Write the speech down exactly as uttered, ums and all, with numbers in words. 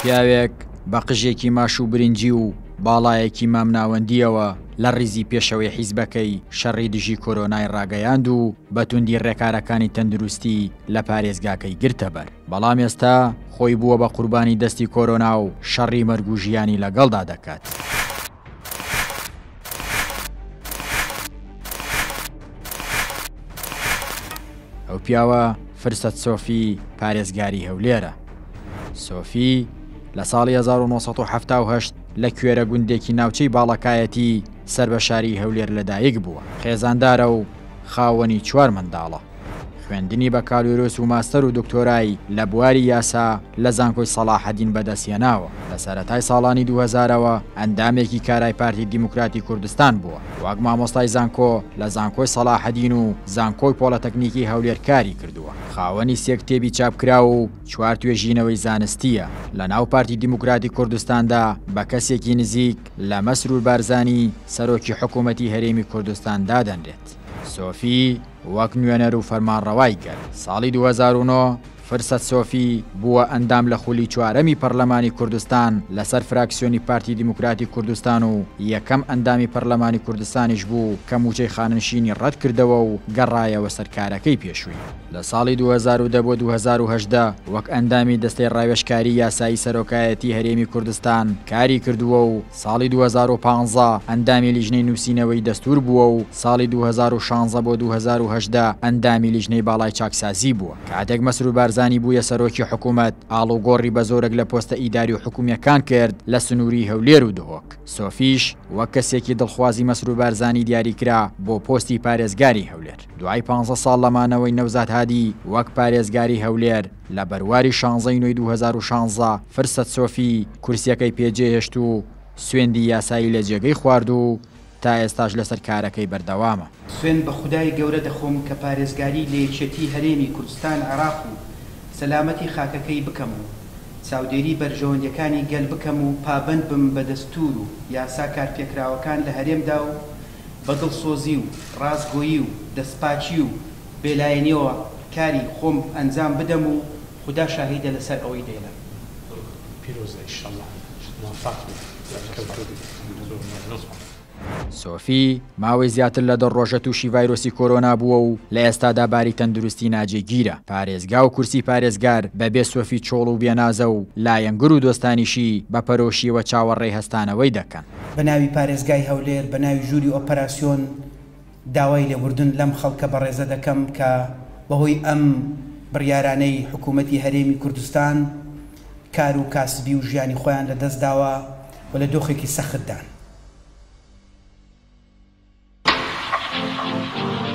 پیاوێک بە قژێکی ماش و برنجی و باڵایەکی مامناوەندیەوە لە ڕیزی پێشەوەی حیزبەکەی شەڕی دژی کۆرۆنای ڕاگەیاند و بە توندی ڕێکارەکانی تەندروستی لە پارێزگاکەی گرتەبەر. بەڵام ئێستا خۆی بووە بە قوربانی دەستی کۆرۆنا و شەڕی مەرگ و ژیانی لەگەڵدا دەکات. ئەو پیاوە فرسەت سۆفی پارێزگاری هەولێرە. سۆفی لە ساڵی هەزار و نۆ سەد و حەفتا و هەشت لە کوێرە گوندێکی ناوچەی باڵەکایەتی سەر بە شاری هەولێر لەدایک بووە. خێزاندارە و خاوەنی چوار منداڵە. خوێندنی بەکالۆریۆس و ماستەر و دکتۆرای لە بواری یاسا لە زانکۆی سەڵاحەدین بەدەستهێناوە. لە سەرەتای ساڵانی دوو هەزارەوە ئەندامێکی کارای پارتی دیموکراتی کوردستان بووە. وەک مامۆستای زانکۆ لە زانکۆی سەڵاحەدین و زانکۆی پۆلەتەکنیکی هەولێر کاری کردووە. خاوەنی سێ کتێبی چاپکراو و چوار توێژینەوەی زانستیە. لە ناو پارتی دیموکراتی کوردستاندا بە کەسێکی نزیک لە مەسرور بارزانی سەرۆکی حکوومەتی هەرێمی کوردستان دادەنرێت. سۆفی وەک نوێنەر و فەرمانڕەوای کرد. ساڵی دوو هەزار و نۆ فرسەت سۆفی بووە ئەندام لە خولی چوارەمی پەرلەمانی کوردستان لەسەر فراکسیۆنی پارتی دیموکراتی کوردستان و یەکەم ئەندامی پەرلەمانی کوردستانیش بوو کە موچەی خانەنشینی ڕەت کردەوە و گەڕایەوە سەرکارەکەی پێشووی. لە ساڵی دوو هەزار و دە بۆ دوو هەزار و هەژدە وەک ئەندامی دەستەی ڕاوێژکاری یاسایی سەرۆکایەتی هەرێمی کوردستان کاری کردووە و ساڵی دوو هەزار و پانزە ئەندامی لیژنەی نووسینەوەی دەستور بووە و ساڵی دوو هەزار و شانزە بۆ دوو هەزار و هەژدە ئەندامی لیژنەی باڵای چاکسازی بووە. کاتێک مەسرور بارزانی بوویە سەرۆکی حکوومەت، ئاڵوگۆڕی بە زۆرێک لە پۆستە ئیداری و حکومیەکان کرد لە سنووری هەولێر و دهۆک. سۆفیش وەک کەسێکی دڵخوازی مەسرور بارزانی دیاریکرا بۆ پۆستی پارێزگاری هەولێر. دوای پانزە ساڵ لەمانەوەی نەوزاد هادی وەک پارێزگاری هەولێر لە بەرواری شانزەی نۆی دوو هەزار و شانزە فرسەت سۆفی کورسیەکەی پێجێهێشت و سوێندی یاسایی لە جێگەی خوارد و تا ئێستاش لەسەر کارەکەی بەردەوامە. سوێند بە خودای گەورە دەخۆم کە پارێزگاری لە یەکێتی هەرێمی کوردستان عێراق و سەلامەتی خاکەکەی بکەم و چاودێری بەرژەوەندیەکانی گەل بکەم و پابەند بم بە دەستور و یاسا کارپێکراوەکان لە هەرێمدا و بە دڵسۆزی و ڕاستگۆیی و دەستپاکی و بێلایەنیەوە کاری خۆم ئەنجام بدەم و خودا شاهیدە لەسەر ئەوەی دەیڵێم. پیرۆزە ئینشاءڵڵا موفق بیت. سۆفی ماوەی زیاتر لە دە ڕۆژە تووشی ڤایرۆسی کۆرۆنا بووە و لە ئێستادا باری تەندروستی ناجێگیرە. پارێزگا و کورسی پارێزگار بەبێ سۆفی چۆڵ و بێنازە و لایەنگر و دۆستانیشی بە پەرۆشیەوە چاوەڕێی هەستانەوەی دەکەن. بە ناوی پارێزگای هەولێر، بە ناوی ژووری ئۆپەراسیۆن داوای لێبوردن لەم خەڵکە بەڕێزە دەکەم کە بەهۆی ئەم بڕیارانەی حکوومەتی هەرێمی کوردستان کار و کاسبی و ژیانی خۆیان لەدەست داوە و لە دۆخێکی سەختدان. Thank you.